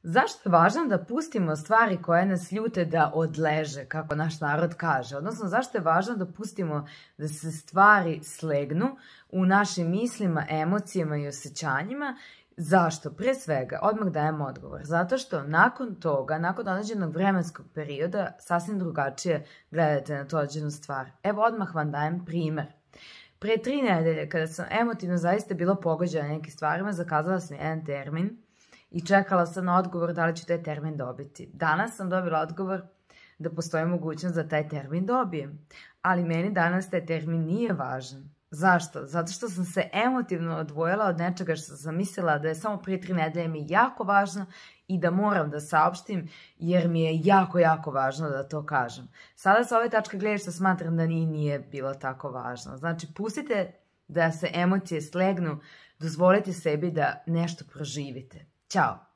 Zašto je važno da pustimo stvari koje nas ljute da odleže, kako naš narod kaže? Odnosno, zašto je važno da pustimo da se stvari slegnu u našim mislima, emocijama i osjećanjima? Zašto? Prije svega, odmah dajem odgovor. Zato što nakon toga, nakon određenog vremenskog perioda, sasvim drugačije gledate na tu određenu stvar. Evo, odmah vam dajem primer. Prije 3 nedelje, kada sam emotivno zaista bila pogođena nekim stvarima, zakazala sam jedan termin i čekala sam na odgovor da li ću taj termin dobiti. Danas sam dobila odgovor da postoji mogućnost da taj termin dobijem. Ali meni danas taj termin nije važan. Zašto? Zato što sam se emotivno odvojila od nečega što sam mislila da je samo prije 3 nedelje mi jako važno i da moram da saopštim jer mi je jako, jako važno da to kažem. Sada sa ove tačke gledišta smatram da nije bilo tako važno. Znači, pustite da se emocije slegnu, dozvolite sebi da nešto proživite. Ćao!